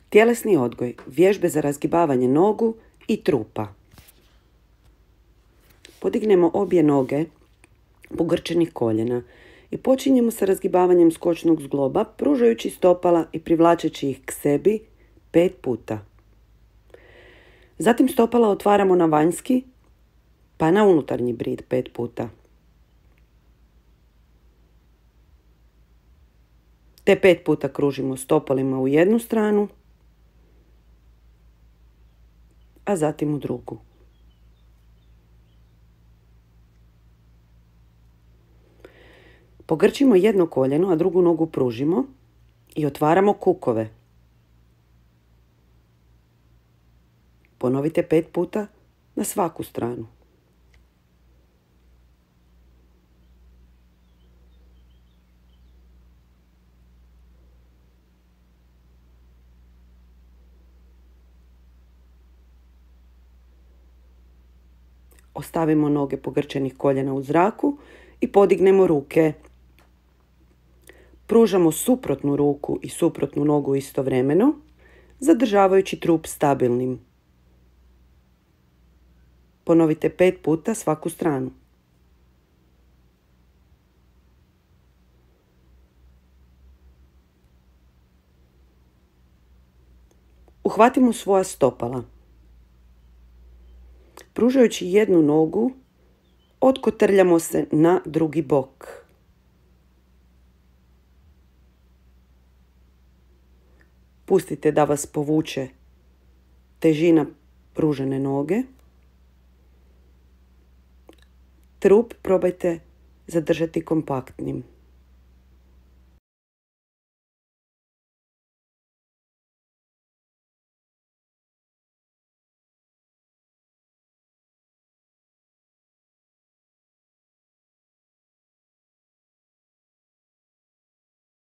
Tjelesni odgoj, vježbe za razgibavanje nogu i trupa. Podignemo obje noge pogrčenih koljena i počinjemo sa razgibavanjem skočnog zgloba, pružajući stopala i privlačeći ih k sebi 5 puta. Zatim stopala otvaramo na vanjski, pa na unutarnji brid 5 puta. Te 5 puta kružimo stopalima u jednu stranu, a zatim u drugu. Pogrčimo jedno koljeno, a drugu nogu pružimo i otvaramo kukove. Ponovite 5 puta na svaku stranu. Ostavimo noge pogrčenih koljena u zraku i podignemo ruke. Pružamo suprotnu ruku i suprotnu nogu istovremeno, zadržavajući trup stabilnim. Ponovite 5 puta svaku stranu. Uhvatimo svoja stopala. Pružajući jednu nogu, otkotrljamo se na drugi bok. Pustite da vas povuče težina pružene noge. Trup probajte zadržati kompaktnim.